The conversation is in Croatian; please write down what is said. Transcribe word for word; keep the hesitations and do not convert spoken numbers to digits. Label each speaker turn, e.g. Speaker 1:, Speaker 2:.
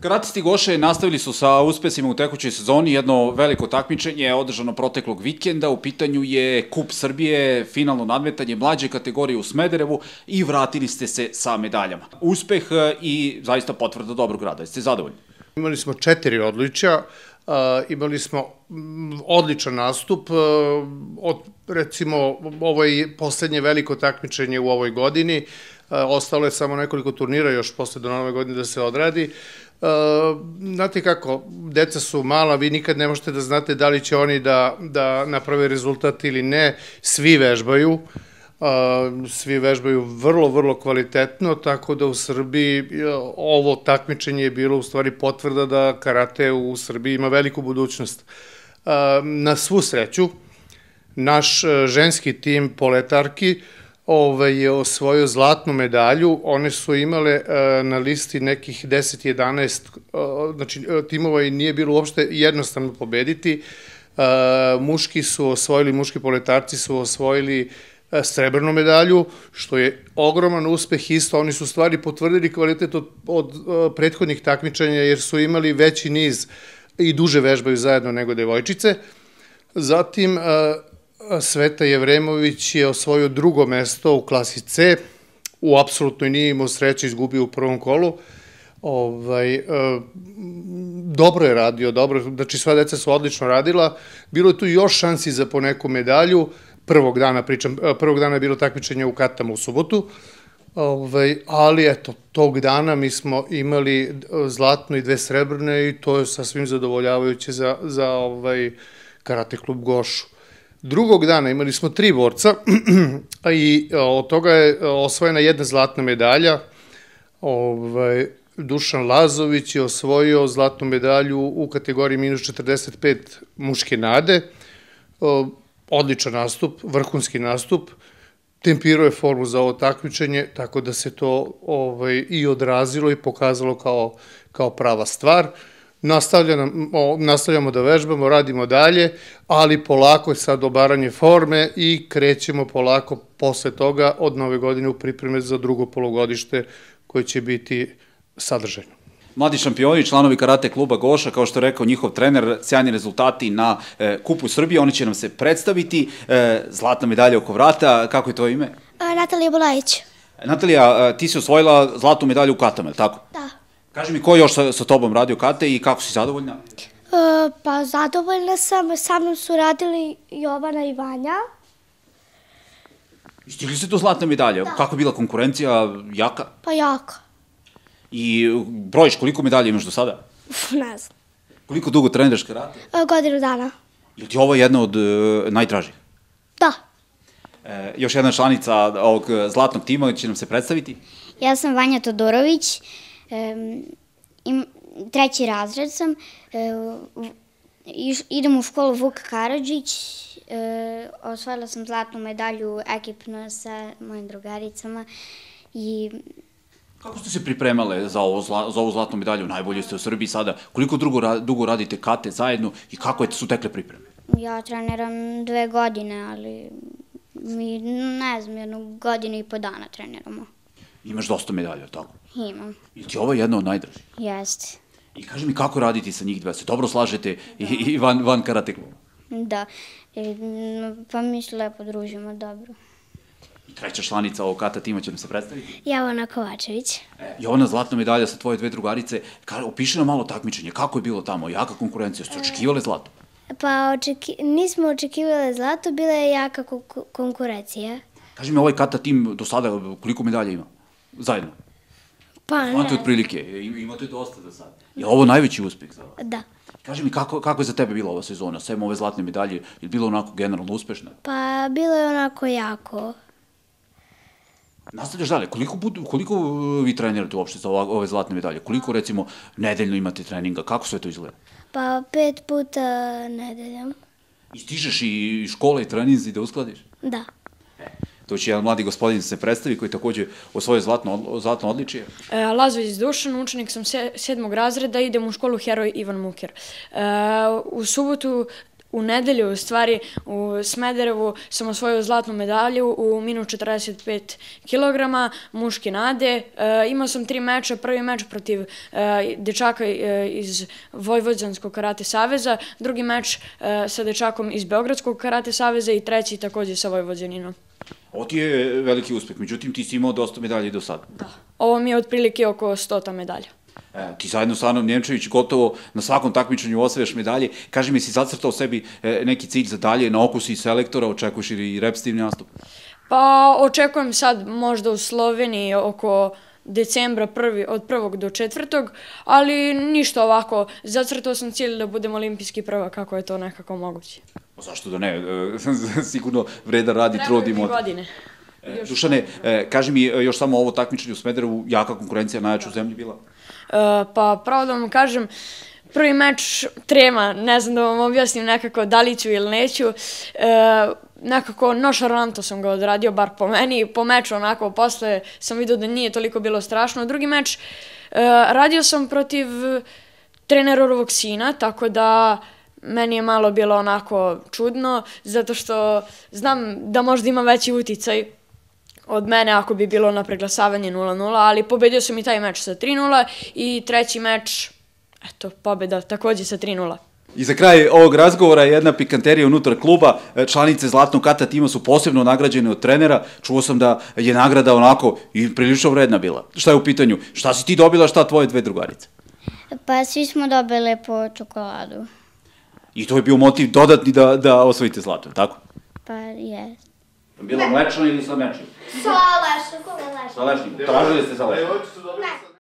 Speaker 1: Karatisti Goše nastavili su sa uspesima u tekućoj sezoni. Jedno veliko takmičenje je održano proteklog vikenda. U pitanju je Kup Srbije, finalno nadmetanje mlađe kategorije u Smederevu i vratili ste se sa medaljama. Uspeh i zaista potvrda dobrog rada. Jeste zadovoljni?
Speaker 2: Imali smo četiri odličja, imali smo odličan nastup. Od, recimo, ovo je poslednje veliko takmičenje u ovoj godini. Ostalo je samo nekoliko turnira još posle do nove godine da se odradi. Znate kako, deca su mala, vi nikad ne možete da znate da li će oni da naprave rezultat ili ne. Svi vežbaju, svi vežbaju vrlo, vrlo kvalitetno, tako da u Srbiji ovo takmičenje je bilo u stvari potvrda da karate u Srbiji ima veliku budućnost. Na svu sreću, naš ženski tim poletarki je osvojio zlatnu medalju. One su imale na listi nekih deset jedanaest, znači timova i nije bilo uopšte jednostavno pobediti. Muški su osvojili, muški poletarci su osvojili srebrnu medalju, što je ogroman uspeh isto. Oni su stvari potvrdili kvalitet od prethodnih takmičenja jer su imali veći niz i duže vežbaju zajedno nego devojčice. Zatim, Sveta Jevremović je osvojio drugo mesto u klasi C, u apsolutnoj nije imao sreće, izgubio u prvom kolu. Dobro je radio, dobro, znači sva deca su odlično radila, bilo je tu još šansi za poneku medalju, prvog dana pričam, prvog dana je bilo takmičenje u Katama u subotu, ali eto, tog dana mi smo imali zlatno i dve srebrne i to je sasvim zadovoljavajuće za Karate klub Gošu. Drugog dana imali smo tri borca i od toga je osvojena jedna zlatna medalja. Dušan Lazović je osvojio zlatnu medalju u kategoriji minus četrdeset pet muške nade. Odličan nastup, vrhunski nastup. Tempirao je formu za ovo takmičenje, tako da se to i odrazilo i pokazalo kao prava stvar. Nastavljamo da vežbamo, radimo dalje, ali polako je sad obaranje forme i krećemo polako posle toga od nove godine u pripreme za drugo polugodište koje će biti sadržajno.
Speaker 1: Mladi šampioni, članovi Karate kluba Goša, kao što je rekao njihov trener, sjajni rezultati na Kupu Srbije, oni će nam se predstaviti. Zlatna medalja oko vrata, kako je to ime?
Speaker 3: Natalija Bulajić.
Speaker 1: Natalija, ti si osvojila zlatnu medalju u katama, je li tako?
Speaker 3: Da.
Speaker 1: Kaži mi, ko još sa tobom radio kate i kako si zadovoljna?
Speaker 3: Pa zadovoljna sam, sa mnom su radili Jovana i Vanja.
Speaker 1: Stigli ste do zlatne medalje? Kako je bila konkurencija, jaka?
Speaker 3: Pa jaka.
Speaker 1: I brojiš, koliko medalja imaš do sada?
Speaker 3: Ne znam.
Speaker 1: Koliko dugo treniraš karate?
Speaker 3: Godinu dana.
Speaker 1: Je li ti ovo jedna od najdražih?
Speaker 3: Da.
Speaker 1: Još jedna članica ovog zlatnog tima će nam se predstaviti.
Speaker 4: Ja sam Vanja Todorović. Treći razred sam, idem u školu Vuk Karadžić, osvojila sam zlatnu medalju ekipno sa mojim drugaricama.
Speaker 1: Kako ste se pripremale za ovu zlatnu medalju? Najbolje ste u Srbiji sada. Koliko dugo radite kate zajedno i kako su tekle pripreme?
Speaker 4: Ja treniram dve godine, ali mi ne znam, jednu godinu i po dana treniramo.
Speaker 1: Imaš dosta medalja, tako?
Speaker 4: Imam.
Speaker 1: Ili ti ovo je jedna od najdražih?
Speaker 4: Jeste.
Speaker 1: I kaži mi kako raditi sa njih dve? Se dobro slažete i van karate kluba?
Speaker 4: Da. Pa mi se lepo družimo, dobro.
Speaker 1: I treća članica ovog kata tima će nam se predstaviti?
Speaker 3: Jovana Kovačević.
Speaker 1: Jovana, zlatna medalja sa tvoje dve drugarice. Opiši nam malo takmičenje. Kako je bilo tamo? Jaka konkurencija? Ste očekivali zlato?
Speaker 3: Pa nismo očekivali zlato, bila je jaka konkurencija.
Speaker 1: Kaži mi, ovaj kata tim do sada koliko medalja ima? Zajedno?
Speaker 3: Pa ne.
Speaker 1: Znate otprilike, imate dosta do sada. Je li ovo najveći uspeh za vas?
Speaker 3: Da.
Speaker 1: Kaži mi, kako je za tebe bila ova sezona? Sem ove zlatne medalje, je li bilo onako generalno uspešna?
Speaker 3: Pa bilo je onako jako.
Speaker 1: Nastavljaš dalje, koliko vi trenirate uopšte za ove zlatne medalje? Koliko, recimo, nedeljno imate treninga? Kako sve to izgleda?
Speaker 3: Pa pet puta nedeljom.
Speaker 1: I stižeš i škole i treninzi da uskladiš?
Speaker 3: Da.
Speaker 1: To će jedan mladi gospodin se predstavi koji takođe osvojio zlatno odličije.
Speaker 5: Lazović Dušan, učenik sam sedmog razreda, idem u školu Heroj Ivan Muker. U subotu u nedelju, u stvari, u Smederevu sam osvojio zlatnu medalju u minus četrdeset pet kilograma, muške nade. E, imao sam tri meča, prvi meč protiv e, dečaka e, iz Vojvođanskog karate saveza, drugi meč e, sa dečakom iz Beogradskog karate saveza i treći takođe sa Vojvođaninom.
Speaker 1: Ovo ti je veliki uspeh, međutim ti si imao dosta medalje do sada.
Speaker 5: Da. Ovo mi je otprilike oko stota medalja.
Speaker 1: E, ti zajedno sa Anom Njemčević gotovo na svakom takmičenju osvajaš medalje. Kaži mi, si zacrtao sebi e, neki cilj za dalje, na oku si selektora, očekuješ i repetitivni nastup?
Speaker 5: Pa očekujem sad možda u Sloveniji oko decembra prvi, od prvog do četvrtog, ali ništa ovako. Zacrtao sam cilj da budem olimpijski prvak, kako je to nekako moguće.
Speaker 1: Pa zašto da ne? E, sigurno vredan radi, trudimo.
Speaker 5: Treba godine.
Speaker 1: E, Dušane, e, kaži mi još samo ovo takmičenje u Smederevu, jaka konkurencija najjača u zemlji bila?
Speaker 5: E, pa pravo da vam kažem, prvi meč trema, ne znam da vam objasnim nekako da li ću ili neću. E, nekako nošaranto sam ga odradio, bar po meni. Po meču onako, posle sam vidio da nije toliko bilo strašno. Drugi meč, e, radio sam protiv trenerovog sina, tako da meni je malo bilo onako čudno, zato što znam da možda ima veći uticaj od mene ako bi bilo na preglasavanje nula nula, ali pobedio sam i taj meč sa tri nula i treći meč, eto, pobeda takođe sa tri nula.
Speaker 1: I za kraj ovog razgovora jedna pikanterija unutar kluba. Članice Zlatnog kata tima su posebno nagrađene od trenera. Čuo sam da je nagrada onako i prilično vredna bila. Šta je u pitanju? Šta si ti dobila, šta tvoje dve drugarice?
Speaker 4: Pa svi smo dobili po čokoladu.
Speaker 1: I to je bio motiv dodatni da, da osvojite zlato, tako?
Speaker 4: Pa je.
Speaker 1: Bila mlečna ili sa mlečnim?
Speaker 3: Sa lešnikom.
Speaker 1: Sa lešnim. Tražili ste sa lešnim.